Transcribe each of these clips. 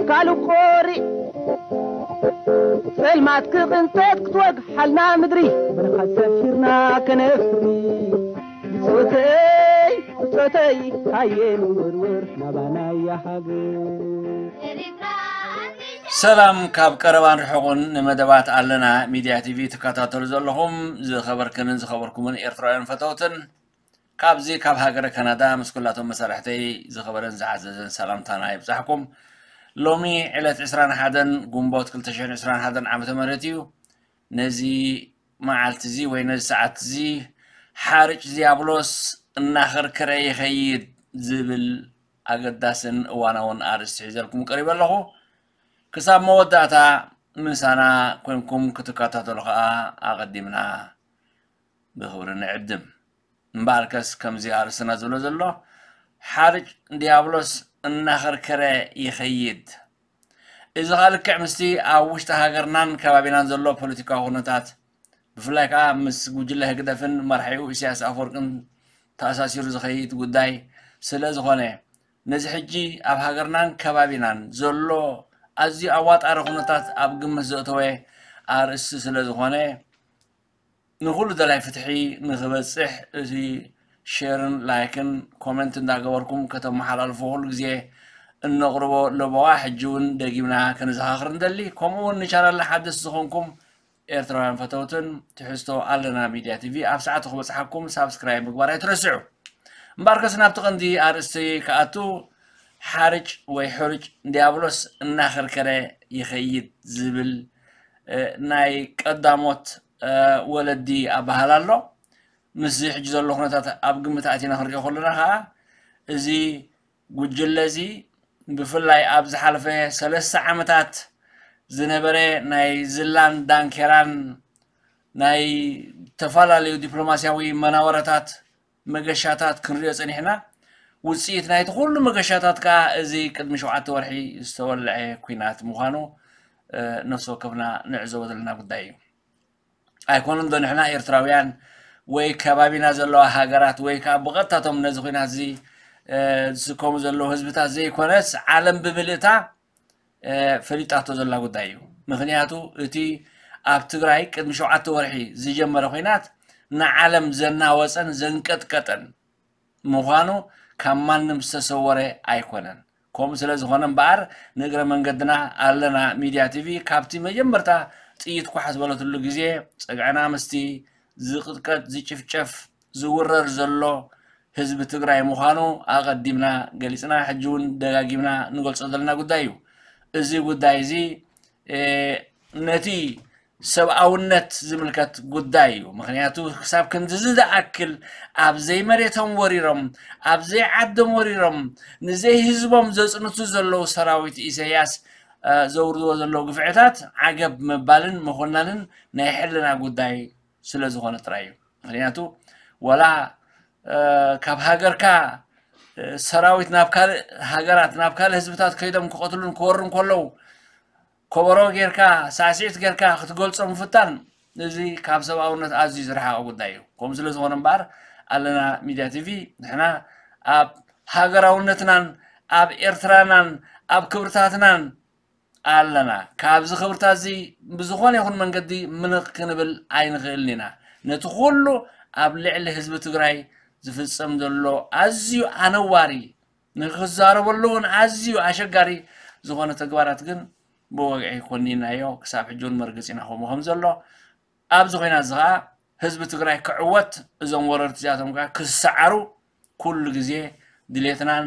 ካልእ ቆሪዕ ጸልማት ክቕንጠጥ ክትወግሓልና ምድሪ፣ ብርሃን ሰፊርና ከነፍሪ። ብጾተይ፣ ብጾተይ፣ ሃየ ንወርወር ናባናያ ሃገር። ሰላም ካብ ቀረባን ርሑቕን ንመደባት ኣለና ሚድያ ቲቪ ትከታተሉ ዘለኹም ዝኸበርክንን ዝኸበርኩምን ኤርትራውያን ፈተውትን፣ ካብዚ ካብ ሃገረ ካናዳ ምስ ኩላቶም መሳርሕተይ ዝኸበረን ዝዓዘዘን ሰላምታና ይብጻሕኩም። ሎሚ ዕለት ዕስራን ሓደን ግንቦት ክልተ ሽሕን ዕስራን ሓደን ዓመተ ምህረት እዩ። ነዚ መዓልቲ እዚ ወይ ነዚ ሰዓት እዚ ሓርጭ ዲያብሎስ እናኸርከረ ይኸይድ ዝብል ኣገዳስን እዋናውን ኣርእስቲ ሒዘልኩም ቀሪበ ኣለኹ። ክሳብ መወዳእታ ምሳና ኮንኩም ክትከታተሉ ከኣ ኣቐዲምና ብኽብሪ ንዕድም። እምበኣርከስ ከምዚ ኣርእስትና ዝብሎ ዘሎ ሓርጭ ዲያብሎስ እናኸርከረ ይኸይድ። እዚ ኸኣ ልክዕ ምስቲ ኣብ ውሽጢ ሃገርናን ከባቢናን ዘሎ ፖለቲካዊ ኩነታት ብፍላይ ከኣ ምስ ጉጅለ ህግደፍን መራሒኡ ኢሳያስ ኣፈወርቅን ተኣሳሲሩ ዝኸይድ ጉዳይ ስለ ዝኾነ ነዚ ሕጂ ኣብ ሃገርናን ከባቢናን ዘሎ ኣዝዩ ኣዋጣሪ ኩነታት ኣብ ግምት ዘእተወ ኣርእስቲ ስለ ዝኾነ ንኹሉ ደላይ ፍትሒ ንኽበጽሕ እቲ ሼርን ላይክን ኮመንት እንዳገበርኩም ከተመሓላልፎ ኩሉ ግዜ እነቕርቦ ለበዋ ሕጂ እውን ደጊምና ክንዘኻኽር ንደሊ። ከምኡ እውን ንቻናልና ሓደስቲ ዝኾንኩም ኤርትራውያን ፈተውትን ትሕዝቶ ኣለና ሚድያ ቲቪ ኣብ ሰዓቱ ክበጽሓኩም ሳብስክራይብ ምግባር ኣይትረስዑ። እምበኣርከስ ናብቲ ቀንዲ ኣርእስቲ ክኣቱ ሓርጭ ወይ ሕርጭ ዲያብሎስ እናኸርከረ ይኸይድ ዝብል ናይ ቀዳሞት ወለዲ ኣበሃህላ ኣሎ። ምስዚ ሕጂ ዘሎ ኩነታት ኣብ ግምት ኣቲና ክንሪኦ ከለና ከዓ እዚ ጉጅለ እዚ ብፍላይ ኣብ ዝሓለፈ ሰለስተ ዓመታት ዝነበረ ናይ ዝላን ዳንኬራን ናይ ዝተፈላለዩ ዲፕሎማስያዊ መናወረታት መገሻታት ክንሪኦ ጸኒሕና። ውጽኢት ናይቲ ኩሉ መገሻታት ከኣ እዚ ቅድሚ ሸውዓተ ወርሒ ዝተወልዐ ኲናት ምዃኑ ነፍሲ ወከፍና ንዕዘቦ ዘለና ጉዳይ እዩ። ኣይኮነን ዶ ንሕና ኤርትራውያን ወይ ከባቢና ዘለዋ ሃገራት ወይ ከኣ ብቐጥታቶም ነዚ ኲናት እዚ ዝስከሙ ዘለዉ ህዝብታት ዘይኮነስ ዓለም ብምልእታ ፈሊጣቶ ዘላ ጉዳይ እዩ። ምኽንያቱ እቲ ኣብ ትግራይ ቅድሚ ሸውዓተ ወርሒ ዝጀመረ ኲናት ንዓለም ዘናወጸን ዘንቀጥቀጠን ምዃኑ ካብ ማንም ዝተሰወረ ኣይኮነን። ከምኡ ስለ ዝኾነ እምበኣር ንእግረ መንገድና ኣለና ሚድያ ቲቪ ካብቲ መጀመርታ ጥይት ኳሕ ዝበለትሉ ግዜ ጸግዕና ምስቲ ዝቕጥቀጥ ዝጭፍጨፍ ዝውረር ዘሎ ህዝቢ ትግራይ ምዃኑ ኣቐዲምና ገሊጽና ሕጂ እውን ደጋጊምና ንገልጾ ዘለና ጉዳይ እዩ። እዚ ጉዳይ እዚ ነቲ ሰብኣውነት ዝምልከት ጉዳይ እዩ። ምኽንያቱ ክሳብ ክንድዚ ዝኣክል ኣብ ዘይመሬቶም ወሪሮም ኣብ ዘይዓዶም ወሪሮም ንዘይህዝቦም ዘፅንቱ ዘለዉ ሰራዊት ኢሳያስ ዘውርድዎ ዘለዉ ግፍዕታት ዓገብ ምባልን ምኹናንን ናይ ሕልና ጉዳይ ስለ ዝኾነ ጥራይ እዩ። ምኽንያቱ ወላ ካብ ሃገርካ ሰራዊት ናብ ካልእ ሃገራት ናብ ካልእ ህዝብታት ከይዶም ክቐትሉን ክወሩን ከለዉ ከበሮ ጌርካ ሳዕስዒት ጌርካ ክትገልጾ ምፍታን እዚ ካብ ሰብኣውነት ኣዝዩ ዝረሓቐ ጉዳይ እዩ። ከምኡ ስለ ዝኾነ እምበኣር ኣለና ሚድያ ቲቪ ንሕና ኣብ ሃገራውነትናን ኣብ ኤርትራናን ኣብ ክብርታትናን ኣለና። ካብዚ ክብርታት እዚ ብዝኾነ ይኹን መንገዲ ምንቕ ክንብል ኣይንኽእልን ኢና። ነቲ ኩሉ ኣብ ልዕሊ ህዝቢ ትግራይ ዝፍጸም ዘሎ ኣዝዩ ኣነዋሪ ንክዛረበሉ እውን ኣዝዩ ኣሸጋሪ ዝኾነ ተግባራት ግን ብወግዒ ኮኒናዮ ክሳብ ሕጂ እውን መርገፂና ከምኡ ከም ዘሎ ኣብዚ ኮይና እዚ ከዓ ህዝቢ ትግራይ ክዕወት እዞም ወረርቲ እዚኣቶም ከዓ ክሰዓሩ ኩሉ ግዜ ድሌትናን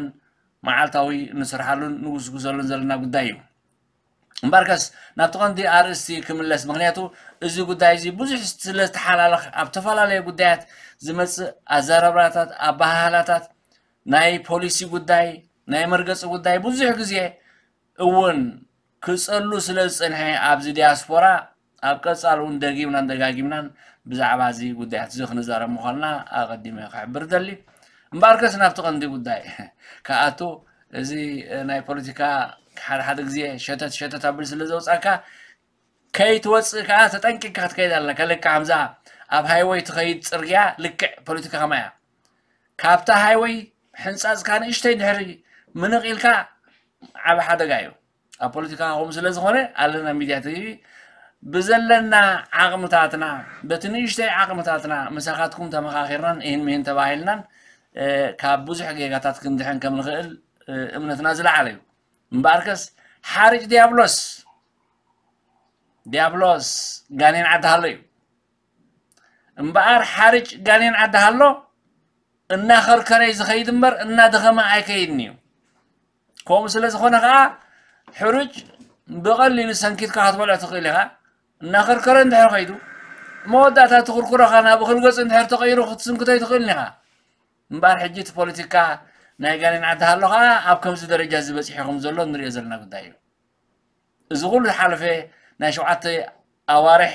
መዓልታዊ ንስርሓሉን ንጉስጉሰሉን ዘለና ጉዳይ እዩ። እምበርከስ ናብቲ ቀንዲ ኣርእስቲ ክምለስ ምክንያቱ እዚ ጉዳይ እዚ ብዙሕ ስለዝተሓላለኽ ኣብ ተፈላለየ ጉዳያት ዝመፅእ ኣዘራርባታት ኣበሃህላታት ናይ ፖሊሲ ጉዳይ ናይ መርገፂ ጉዳይ ብዙሕ ግዜ እውን ክፀሉ ስለ ዝፀንሐ ኣብዚ ዲያስፖራ ኣብ ቀፃሊ እውን ደጊምናን ደጋጊምናን ብዛዕባ እዚ ጉዳያት እዚ ክንዛረብ ምዃንና ኣቐዲመ ክሕብር ደሊ። እምበኣርከስ ናብቲ ቀንዲ ጉዳይ ክኣቱ እዚ ናይ ፖለቲካ ሓደ ሓደ ግዜ ሸተት ሸተት ኣብል ስለ ዘውፃካ ከይትወፅእ ከዓ ተጠንቂቅካ ክትከይድ ኣለካ። ልክዕ ከምዛ ኣብ ሃይወይ ትኸይድ ፅርግያ ልክዕ ፖለቲካ ከማያ ካብታ ሃይወይ ሕንፃፅካ ንእሽተይ ድሕሪ ምንቕ ኢልካ ዓብ ሓደጋ እዩ። ኣብ ፖለቲካ ከምኡ ስለ ዝኾነ ኣለና ሚድያ ቲቪ ብዘለና ዓቕምታትና በቲ ንእሽተይ ዓቕምታትና ምሳኻትኩም ተመኻኺርናን ይህን ምሂን ተባሂልናን ካብ ብዙሕ ጌጋታት ክንድሕን ከም ንኽእል እምነትና ዝለዓለ እዩ። እምበኣርከስ ሓርጭ ዲያብሎስ ዲያብሎስ ጋኔን ዓዲ ሃሎ እዩ። እምበኣር ሓርጭ ጋኔን ዓዲ ሃሎ እናኸርከረ እዩ ዝኸይድ እምበር እናደኸመ ኣይከይድን እዩ። ከምኡ ስለ ዝኾነ ከዓ ሕሩጭ ብቐሊሉ ሰንኪትካ ክትበልዖ ትኽእል ኢኻ። እናኸርከረ እንድሕር ከይዱ መወዳእታ ትኽርኩረኻ ናብ እኽል ገፁ እንድሕር ተቐይሩ ክትስንክቶ ኣይትኽእልን ኢኻ። እምበኣር ሕጂ እቲ ፖለቲካ ናይ ጋኔን ዓዲ ሃሎ ከዓ ኣብ ከምዚ ደረጃ እዚ በፂሑ ከም ዘሎ ንሪኦ ዘለና ጉዳይ እዩ። እዚ ኩሉ ዝሓለፈ ናይ ሸውዓተ ኣዋርሕ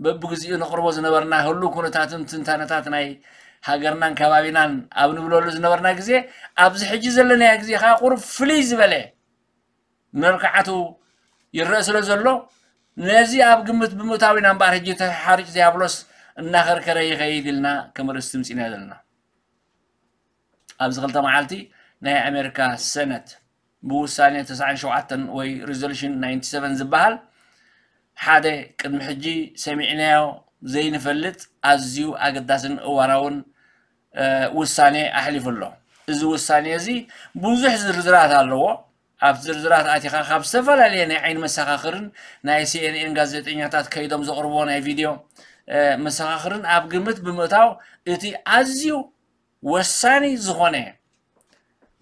በብግዚኡ ነቕርቦ ዝነበርና ህሉው ኩነታትን ትንታነታት ናይ ሃገርናን ከባቢናን ኣብ ንብለሉ ዝነበርና ግዜ ኣብዚ ሕጂ ዘለናዮ ግዜ ከዓ ቁሩብ ፍልይ ዝበለ መልክዓቱ ይረአ ስለ ዘሎ ነዚ ኣብ ግምት ብምእታው ኢና እምበኣር ሕጂ እቲ ሓርጭ ዲያብሎስ እናኸርከረ ይኸይድ ኢልና ከም ርእስቲ ምፂና ዘለና። ኣብዚ ክልተ መዓልቲ ናይ ኣሜሪካ ሰነት ብውሳኔ ተስዓን ሸውዓተን ወይ ሪዞሉሽን ናይንቲ ሰቨን ዝበሃል ሓደ ቅድሚ ሕጂ ሰሚዕናዮ ዘይንፈልጥ ኣዝዩ ኣገዳስን እዋናውን ውሳኔ ኣሕሊፉ ኣሎ። እዚ ውሳኔ እዚ ብዙሕ ዝርዝራት ኣለዎ። ኣብቲ ዝርዝራት ኣቲኻ ካብ ዝተፈላለየ ናይ ዓይኒ መሰኻኽርን ናይ ሲኤንኤን ጋዜጠኛታት ከይዶም ዘቕርብዎ ናይ ቪድዮ መሰኻኽርን ኣብ ግምት ብምእታው እቲ ኣዝዩ ወሳኒ ዝኾነ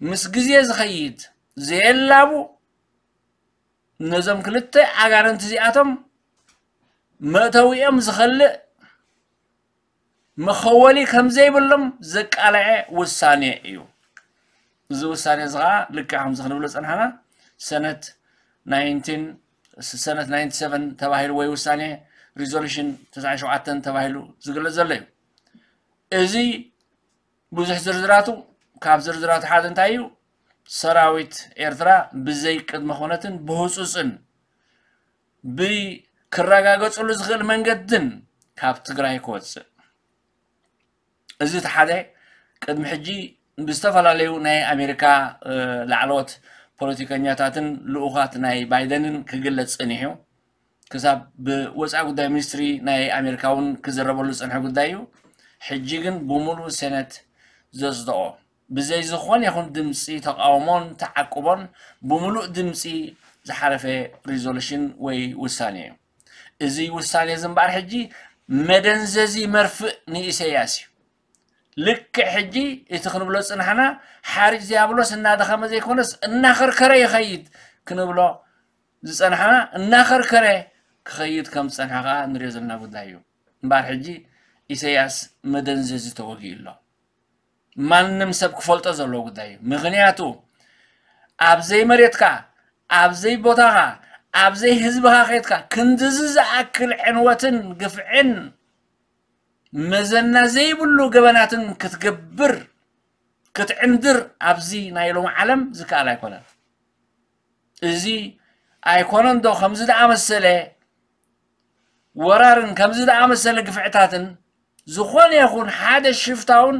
ምስ ግዜ ዝኸይድ ዘየላቡ ነዞም ክልተ ኣጋንንቲ እዚኣቶም መእተዊኦም ዝኸልእ መኸወሊ ከም ዘይብሎም ዘቃለዐ ውሳኔ እዩ። እዚ ውሳኔ እዚ ከዓ ልክዕ ከምዚ ክንብሎ ዝፀናሕና ሰነት ናይንቲን ሰነት ናይንቲ ሰቨን ተባሂሉ ወይ ውሳኔ ሪዞሉሽን ተስዓን ሸውዓተን ተባሂሉ ዝግለፅ ዘሎ እዩ። እዚ ብዙሕ ዝርዝራቱ ካብ ዝርዝራቱ ሓደ እንታይ እዩ? ሰራዊት ኤርትራ ብዘይ ቅድመ ኩነትን ብህፁፅን ብክረጋገፅሉ ዝኽእል መንገድን ካብ ትግራይ ክወፅእ። እዚ እቲ ሓደ ቅድሚ ሕጂ ብዝተፈላለዩ ናይ ኣሜሪካ ላዕለዎት ፖለቲከኛታትን ልኡኻት ናይ ባይደንን ክግለፅ ፀኒሑ ክሳብ ብወፃኢ ጉዳይ ሚኒስትሪ ናይ ኣሜሪካ እውን ክዝረበሉ ዝፀንሐ ጉዳይ እዩ። ሕጂ ግን ብምሉእ ሴነት ዘፅድቆ ብዘይ ዝኾነ ይኹን ድምፂ ተቃውሞን ተዓቅቦን ብምሉእ ድምፂ ዝሓለፈ ሪዞሉሽን ወይ ውሳኔ እዩ። እዚ ውሳኔ እዚ እምበኣር ሕጂ መደንዘዚ መርፍእ ንኢሰያስ እዩ። ልክዕ ሕጂ እቲ ክንብሎ ዝፅናሕና ሓርጭ ዲያብሎስ እናደኸመ ዘይኮነስ እናኸርከረ ይኸይድ ክንብሎ ዝፀናሕና እናኸርከረ ክኸይድ ከም ዝፀንሐ ከዓ ንሪኦ ዘለና ጉዳይ እዩ። እምበኣር ሕጂ ኢሰያስ መደንዘዚ ተወጊኡ ኣሎ። ማንም ሰብ ክፈልጦ ዘለዎ ጉዳይ እዩ። ምኽንያቱ ኣብ ዘይመሬትካ ኣብ ዘይቦታኻ ኣብ ዘይህዝብኻ ከይድካ ክንድዚ ዝኣክል ዕንወትን ግፍዕን መዘና ዘይብሉ ገበናትን ክትገብር ክትዕንድር ኣብዚ ናይ ሎሚ ዓለም ዝከኣል ኣይኮነን። እዚ ኣይኮነን ዶ ከምዚ ዝኣመሰለ ወራርን ከምዚ ዝኣመሰለ ግፍዕታትን ዝኾነ ይኹን ሓደ ሽፍታውን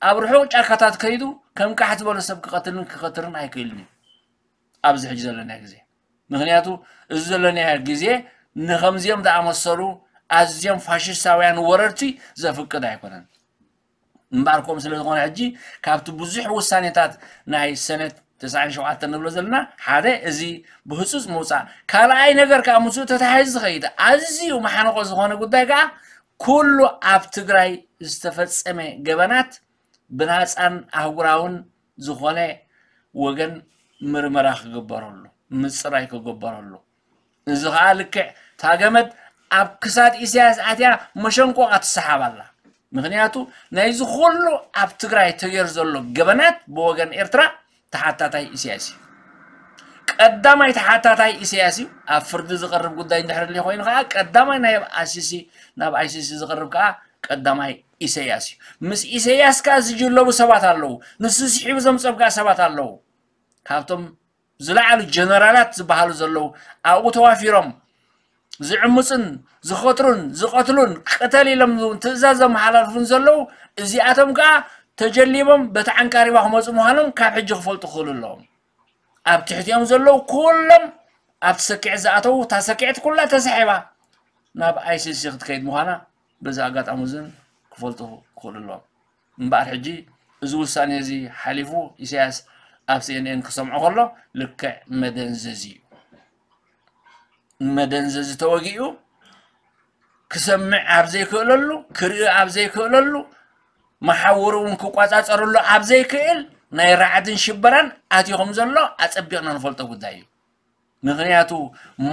ኣብ ርሑቕ ጫካታት ከይዱ ከም ቃሕ ዝበለ ሰብ ክቐትልን ክኸትርን ኣይክእልን እዩ ኣብዚ ሕጂ ዘለና ግዜ። ምኽንያቱ እዚ ዘለናዮ ግዜ ንኸምዚኦም ዝኣመሰሉ ኣዝዮም ፋሽስታውያን ወረርቲ ዘፍቅድ ኣይኮነን። እምበኣር ከምኡ ስለ ዝኾነ ሕጂ ካብቲ ብዙሕ ውሳኔታት ናይ ሰነት ተስዓን ሸውዓተን ንብሎ ዘለና ሓደ እዚ ብህፁፅ ምውፃእ፣ ካልኣይ ነገር ከዓ ምስኡ ተተሓሒዙ ዝኸይድ ኣዝዩ መሓንቆ ዝኾነ ጉዳይ ከዓ ኩሉ ኣብ ትግራይ ዝተፈፀመ ገበናት ብናፃን ኣህጉራውን ዝኾነ ወገን ምርመራ ክግበረሉ ምፅራይ ክግበረሉ እዚ ከዓ ልክዕ እታ ገመድ ኣብ ክሳድ ኢሳያስ ኣትያ መሸንቆቓ ትሰሓብ ኣላ። ምኽንያቱ ናይዚ ኩሉ ኣብ ትግራይ ተገይሩ ዘሎ ገበናት ብወገን ኤርትራ ተሓታታይ ኢሳያስ እዩ። ቀዳማይ ተሓታታይ ኢሳያስ እዩ። ኣብ ፍርዲ ዝቐርብ ጉዳይ እንድሕር ሊ ኮይኑ ከዓ ቀዳማይ ናይ ኣይሲሲ ናብ ኣይሲሲ ዝቐርብ ከዓ ቀዳማይ ኢሳያስ እዩ። ምስ ኢሳያስ ከዓ ዝጅለቡ ሰባት ኣለዉ። ንሱ ስሒቡ ዘምፀም ከዓ ሰባት ኣለዉ። ካብቶም ዝለዓሉ ጀነራላት ዝበሃሉ ዘለዉ ኣብኡ ተዋፊሮም ዝዕምፁን ዝኸትሩን ዝቐትሉን ቅተል ኢሎም እውን ትእዛዝ ዘመሓላልፉን ዘለዉ እዚኣቶም ከዓ ተጀሊቦም በቲ ዓንቃሪባ ክመፁ ምዃኖም ካብ ሕጂ ክፈልጡ ክኽእሉ ኣለዎም። ኣብ ትሕቲኦም ዘለዉ ኩሎም ኣብቲ ሰኪዕት ዝኣተዉ እታ ሰኪዕት ኩላ ተሳሒባ ናብ ኣይሲሲ ክትከይድ ምዃና በዚ ኣጋጣሚ እዝን ክፈልጡ ክኽእሉ ኣለዎም። እምበኣር ሕጂ እዚ ውሳኔ እዚ ሓሊፉ ኢሳያስ ኣብ ሲኤንኤን ክሰምዖ ከሎ ልክዕ መደንዘዚ እዩ። መደንዘዚ ተወጊኡ ክሰምዕ ኣብ ዘይክእለሉ፣ ክርኢ ኣብ ዘይክእለሉ፣ መሓውሩ እውን ክቋጻጸረሉ ኣብ ዘይክእል ናይ ራዕድን ሽበራን ኣትዩ ከም ዘሎ ኣጸቢቕና ንፈልጦ ጉዳይ እዩ። ምኽንያቱ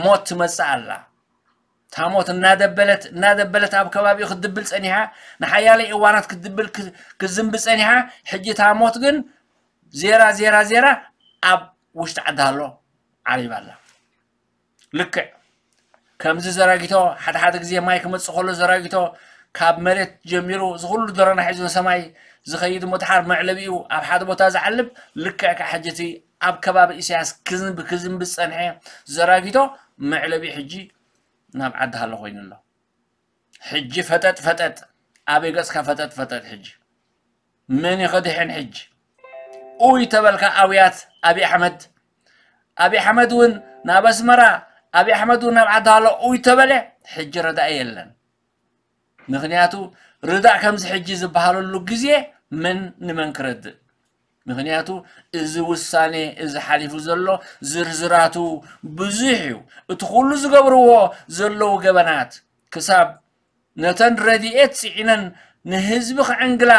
ሞት ትመጽእ ኣላ። እታ ሞት እናደበለት እናደበለት ኣብ ከባቢኡ ክትድብል ጸኒሓ፣ ንሓያለይ እዋናት ክትድብል ክ- ክትዝንቢ ጸኒሓ። ሕጂ እታ ሞት ግን ዜራ ዜራ ዜራ ኣብ ውሽጢ ዓዲ ሃሎ ዓሪባ ኣላ። ልክዕ ከምዚ ዘራጊቶ ሓደ ሓደ ግዜ ማይ ክመጽእ ከሎ ዘራጊቶ ካብ መሬት ጀሚሩ እዚ ኩሉ ደረና ሒዙ ንሰማይ ዝኸይድ እሞ ድሓር መዕለቢኡ ኣብ ሓደ ቦታ ዝዓልብ ልክዕ ከዓ ሕጂ እቲ ኣብ ከባቢ ኢሳያስ ክዝንብ ክዝንብ ዝጸንሐ ዘራጊቶ መዕለቢኡ ሕጂ ናብ ዓዲ ሃሎ ኮይኑ ኣሎ። ሕጂ ፈጠጥ ፈጠጥ ኣበይ ገጽካ ፈጠጥ ፈጠጥ ሕጂ መን ይኸድሕን ሕጂ ኡይ ተበልካ ኣውያት ኣብይ ኣሕመድ ኣብይ ኣሕመድ እውን ናብ ኣስመራ ኣብይ ኣሕመድ እውን ናብ ዓዲ ሃሎ ኡይ ተበለ ሕጂ ረዳኢ የለን። ምኽንያቱ ርዳእ ከምዚ ሕጂ ዝበሃለሉ ግዜ መን ንመን ክረድእ ምኽንያቱ እዚ ውሳኔ እዚ ሓሊፉ ዘሎ ዝርዝራቱ ብዙሕ እዩ። እቲ ኩሉ ዝገብርዎ ዘለዉ ገበናት ክሳብ ነተን ረድኤት ጽዒነን ንህዝቢ ክዕንግላ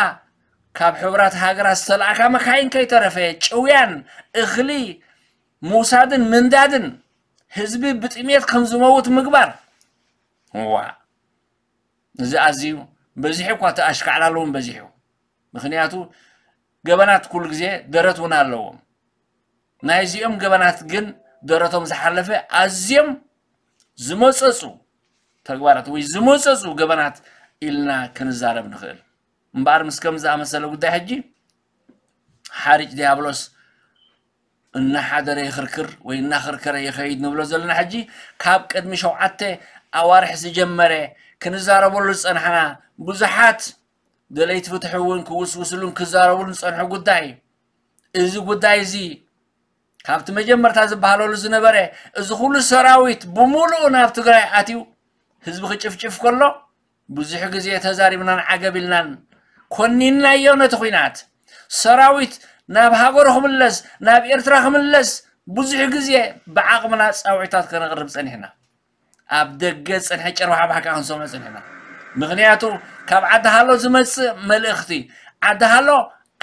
ካብ ሕቡራት ሃገራት ዝተላእካ መካይን ከይተረፈ ጭውያን እኽሊ ምውሳድን ምንዳድን ህዝቢ ብጥሜት ከም ዝመውት ምግባር ዋ እዚ ኣዝዩ በዚሑ እኳ እቲ ኣሽካዕላል እውን በዚሑ። ምኽንያቱ ገበናት ኩሉ ግዜ ደረት እውን ኣለዎም። ናይዚኦም ገበናት ግን ደረቶም ዝሓለፈ ኣዝዮም ዝመጸጹ ተግባራት ወይ ዝመጸጹ ገበናት ኢልና ክንዛረብ ንኽእል። እምበኣር ምስ ከም ዝኣመሰለ ጉዳይ ሕጂ ሓርጭ ዲያብሎስ እናሓደረ ይኽርክር ወይ እናኸርከረ ይኸይድ ንብሎ ዘለና ሕጂ ካብ ቅድሚ ሸውዓተ ኣዋርሕ ዝጀመረ ክንዛረበሉ ዝጸናሕና ብዙሓት ደለይቲ ፍትሒ እውን ክውስውስሉን ክዛረቡሉን ዝጸንሑ ጉዳይ እዩ። እዚ ጉዳይ እዚ ካብቲ መጀመርታ ዝበሃለሉ ዝነበረ እዚ ኩሉ ሰራዊት ብምሉኡ ናብ ትግራይ ኣትዩ ህዝቢ ክጭፍጭፍ ከሎ ብዙሕ ግዜ ተዛሪብናን ዓገብ ኢልናን ኮኒንናዮ ነቲ ኲናት። ሰራዊት ናብ ሃገሩ ክምለስ ናብ ኤርትራ ክምለስ ብዙሕ ግዜ ብዓቕምና ጻውዒታት ከነቕርብ ጸኒሕና። ኣብ ደገ ዝጸንሐ ጭርባሕባሕ ከዓ ክንሰምዖ ጸኒሕና። ምኽንያቱ ካብ ዓዲ ሃሎ ዝመጽእ መልእኽቲ ዓዲ ሃሎ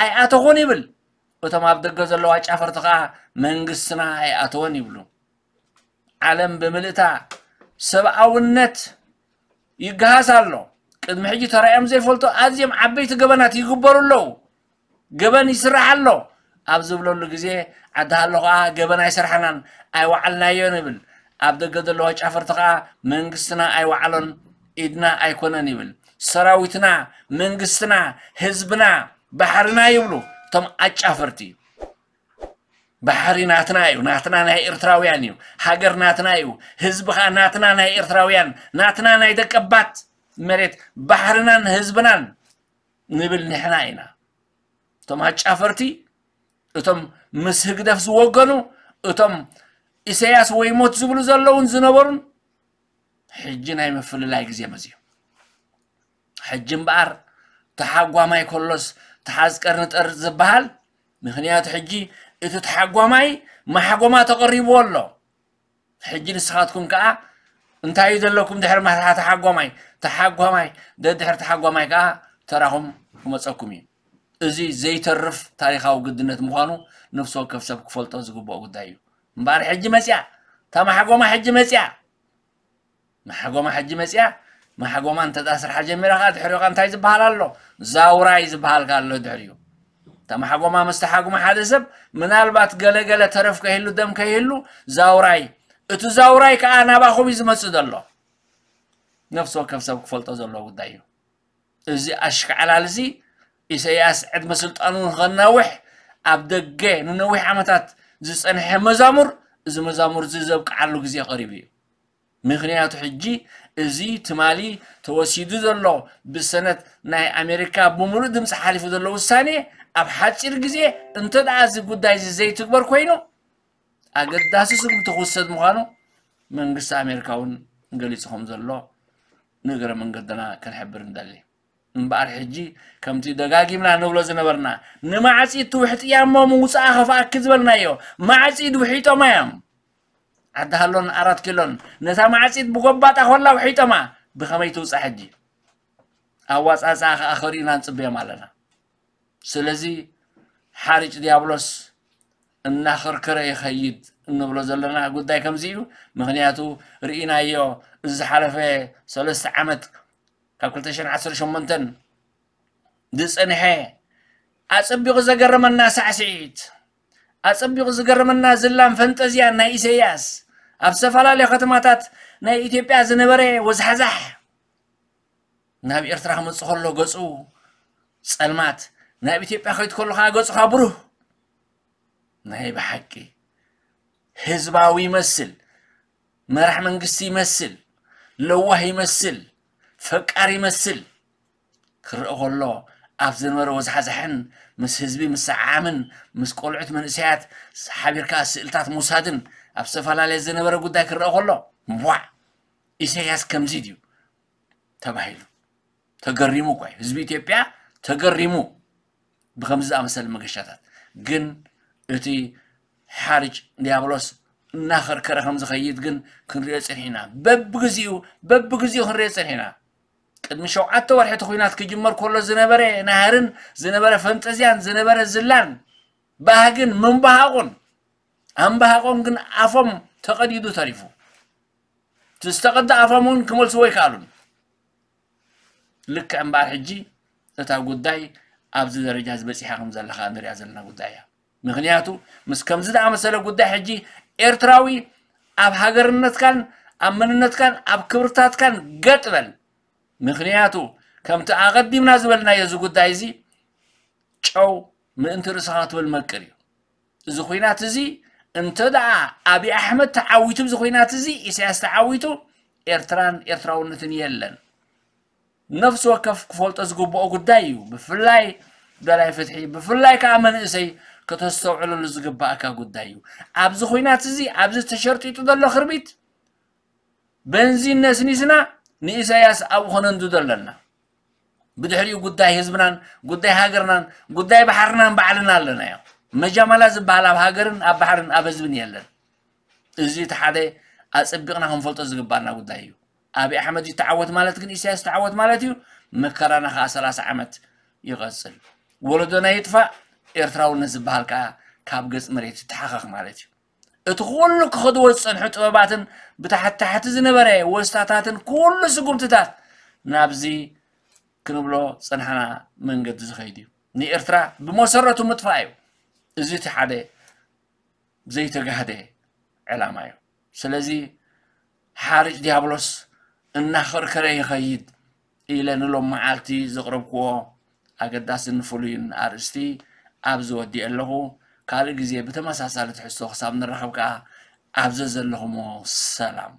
ኣይኣተኹን ይብል። እቶም ኣብ ደገ ዘለዋ ጫፈርቲ ከዓ መንግስትና ኣይኣተወን ይብሉ። ዓለም ብምልእታ ሰብኣውነት ይገሃስ ኣሎ። ቅድሚ ሕጂ ተራእዮም ዘይፈልጡ ኣዝዮም ዓበይቲ ገበናት ይግበሩ ኣለዉ። ገበን ይስራሕ ኣሎ ኣብ ዝብለሉ ግዜ ዓዲ ሃሎ ከዓ ገበን ኣይሰራሕናን ኣይወዓልናዮን ይብል። ኣብ ደገ ዘለዋ ጫፈርቲ ከዓ መንግስትና ኣይወዓሎን ኢድና ኣይኮነን ይብል። ሰራዊትና መንግስትና ህዝብና ባሕርና ይብሉ እቶም ኣጫፈርቲ። ባሕሪ ናትና እዩ ናትና ናይ ኤርትራውያን እዩ። ሃገር ናትና እዩ። ህዝቢ ከዓ ናትና ናይ ኤርትራውያን ናትና ናይ ደቀባት መሬት ባሕርናን ህዝብናን ንብል ንሕና ኢና። እቶም ኣጫፈርቲ እቶም ምስ ህግደፍ ዝወገኑ እቶም ኢሳያስ ወይ ሞት ዝብሉ ዘለውን ዝነበሩን ሕጂ ናይ ምፍልላይ ግዜ መፅዩ። ሕጂ እምበኣር ተሓጓማይ ከሎስ ተሓዝ ቀርኒ ጠርጥ ዝበሃል ምኽንያቱ ሕጂ እቲ ተሓጓማይ ማሕጎማ ተቐሪብዎ ኣሎ። ሕጂ ንስኻትኩም ከዓ እንታይ እዩ ዘለኩም ድሕሪ ማሕታ ተሓጓማይ ተሓጓማይ ደድሕሪ ተሓጓማይ ከዓ ተራኹም ክመፀኩም እዩ። እዚ ዘይተርፍ ታሪኻዊ ግድነት ምዃኑ ነፍሲ ወከፍ ሰብ ክፈልጦ ዝግብኦ ጉዳይ እዩ። እምበኣር ሕጂ መፅያ እታ ማሕጎማ ሕጂ መፅያ ማሕጎማ ሕጂ መፅያ ማሕጎማ እንተ ስርሓ ጀሚራ ከዓ ድሕሪኡ ከዓ እንታይ ዝበሃል ኣሎ? ዛውራይ ዝበሃል ከዓ ኣሎ ድሕሪኡ። እታ ማሕጎማ ምስ ተሓጉመ ሓደ ሰብ ምናልባት ገለገለ ተረፍ ከይህሉ ደም ከይህሉ ዛውራይ እቲ ዛውራይ ከዓ ናባኹም እዩ ዝመፅእ ዘሎ። ነፍሲ ወከፍ ሰብ ክፈልጦ ዘለዎ ጉዳይ እዩ። እዚ ኣሽካዕላል እዚ ኢሳያስ ዕድመ ስልጣኑ ንኸናውሕ ኣብ ደገ ንነዊሕ ዓመታት ዝፀንሐ መዛሙር እዚ መዛሙር እዚ ዘብቅዓሉ ግዜ ቀሪቡ እዩ። ምኽንያቱ ሕጂ እዚ ትማሊ ተወሲዱ ዘሎ ብሰነት ናይ ኣሜሪካ ብምሉእ ድምፂ ሓሊፉ ዘሎ ውሳኔ ኣብ ሓፂር ግዜ እንተ ደኣ እዚ ጉዳይ እዚ ዘይትግበር ኮይኑ ኣገዳሲ ስጉምቲ ክውሰድ ምዃኑ መንግስቲ ኣሜሪካ እውን ገሊጹ ከም ዘሎ ንእግረ መንገድና ክንሕብር ንደሊ። እምበኣር ሕጂ ከምቲ ደጋጊምና ንብሎ ዝነበርና ንማዕጺድ ትውሕጥያ እሞ ምውፅኣ ከፍኣኪ ዝበልናዮ ማዕጺድ ውሒጦማ እዮም። ዓዲ ሃሎን ኣራት ኪሎን ነታ ማዕጺድ ብጎባጣ ኮላ ውሒጦማ። ብኸመይ ትውፃእ ሕጂ? ኣዋፃፅኣ ከዓ ከርእዩና ንፅበዮም ኣለና። ስለዚ ሓርጭ ዲያብሎስ እናኸርከረ ይኸይድ እንብሎ ዘለና ጉዳይ ከምዚ እዩ። ምኽንያቱ ርኢናዮ፣ እዚ ዝሓለፈ ሰለስተ ዓመት ካብ ክልተ ሽሕን ዓሰርተ ሸሞንተን ዝፀንሐ ኣፀቢቑ ዘገረመና ሳዕስዒት፣ ኣፀቢቑ ዝገረመና ዝላን ፈንጠዝያን ናይ ኢሰያስ፣ ኣብ ዝተፈላለዩ ከተማታት ናይ ኢትዮጵያ ዝነበረ ወዝሓዛሕ፣ ናብ ኤርትራ ክመፅእ ከሎ ገፁ ፀልማት፣ ናብ ኢትዮጵያ ከይድ ከሎ ከዓ ገፁ ከዓ ብሩህ። ናይ ብሓቂ ህዝባዊ ይመስል፣ መራሕ መንግስቲ ይመስል፣ ለዋህ ይመስል፣ ፈቃር ይመስል። ክረአ ከሎ ኣብ ዝነበረ ወዝሓዛሕን ምስ ህዝቢ ምስዓዓምን ምስ ቆልዑት መንእሰያት ሓቢርካ ስእልታት ምውሳድን ኣብ ዝተፈላለየ ዝነበረ ጉዳይ ክረአ ከሎ፣ ዋዕ፣ ኢሳያስ ከምዚ ድዩ ተባሂሉ ተገሪሙ እኳ እዩ። ህዝቢ ኢትዮጵያ ተገሪሙ ብከምዚ ዝኣመሰለ መገሻታት። ግን እቲ ሓርጭ ዲያብሎስ እናኸርከረ ከም ዝኸይድ ግን ክንሪኦ ጸኒሕና። በብግዚኡ በብግዚኡ ክንሪኦ ጸኒሕና። ቅድሚ ሸውዓተ ወርሒ እቲ ኲናት ክጅመር ከሎ ዝነበረ ናህርን ዝነበረ ፈንጠዝያን ዝነበረ ዝላን ባህግን ምንባሃቑን ኣንባሃቖም ግን ኣፎም ተቐዲዱ ተሪፉ። እቲ ዝተቐደ ኣፎም እውን ክመልስዎ ኣይከኣሉን። ልክዕ እምበኣር ሕጂ እታ ጉዳይ ኣብዚ ደረጃ ዝበፂሓ ከም ዘለኻ ንሪኣ ዘለና ጉዳይ እያ። ምኽንያቱ ምስ ከምዚ ዝኣመሰለ ጉዳይ ሕጂ ኤርትራዊ ኣብ ሃገርነትካን ኣብ መንነትካን ኣብ ክብርታትካን ገጥ በል። ምኽንያቱ ከምቲ ኣቐዲምና ዝበልናዮ እዚ ጉዳይ እዚ ጨው ምእንቲ ርእስኻ ክትብል መቅር እዩ። እዚ ኹናት እዚ እንተ ደኣ ኣብይ ኣሕመድ ተዓዊቱ፣ እዚ ኹናት እዚ ኢሳያስ ተዓዊቱ፣ ኤርትራን ኤርትራውነትን የለን። ነፍሲ ወከፍ ክፈልጦ ዝግብኦ ጉዳይ እዩ። ብፍላይ ደላይ ፍትሒ፣ ብፍላይ ከዓ መንእሰይ ከተስተውዕለሉ ዝግባእካ ጉዳይ እዩ። ኣብዚ ኹናት እዚ፣ ኣብዚ ተሸርጢጡ ዘሎ ክርቢት፣ በንዚን ነስኒስና ንኢሳያስ ኣብኡ ከነንድዶ ኣለና። ብድሕሪኡ ጉዳይ ህዝብናን ጉዳይ ሃገርናን ጉዳይ ባሕርናን ባዕልና ኣለናዮ። መጃመላ ዝበሃል ኣብ ሃገርን ኣብ ባሕርን ኣብ ህዝብን የለን። እዚ እቲ ሓደ ኣጸቢቕና ክንፈልጦ ዝግባና ጉዳይ እዩ። ኣብይ ኣሕመድ ይተዓወት ማለት ግን ኢሳያስ ይተዓወት ማለት እዩ። መከራና ከዓ ሰላሳ ዓመት ይቐጽል። ወለዶና ይጥፋእ፣ ኤርትራውነት ዝበሃል ከዓ ካብ ገጽ መሬት ይተሓኸኽ ማለት እዩ። እቲ ኩሉ ክኸድዎ ዝጸንሑ ጥበባትን ብታሕቲ ታሕቲ ዝነበረ ወስታታትን ኩሉ ስጉምትታት ናብዚ ክንብሎ ጸንሓና መንገዲ ዝኸይድ እዩ። ንኤርትራ ብመሰረቱ ምጥፋእ እዩ። እዚ እቲ ሓደ ዘይተጋህደ ዕላማ እዩ። ስለዚ ሓርጭ ዲያብሎስ እናኸርከረ ይኸይድ ኢለ ንሎም መዓልቲ ዘቕረብክዎ ኣገዳስን ፍሉይን ኣርእስቲ ኣብዚ ወዲኤ ኣለኹ። ካልእ ግዜ ብተመሳሳሊ ትሕዝቶ ክሳብ ንራኸብ ከኣ ኣብ ዘዘለኹሞ ሰላም።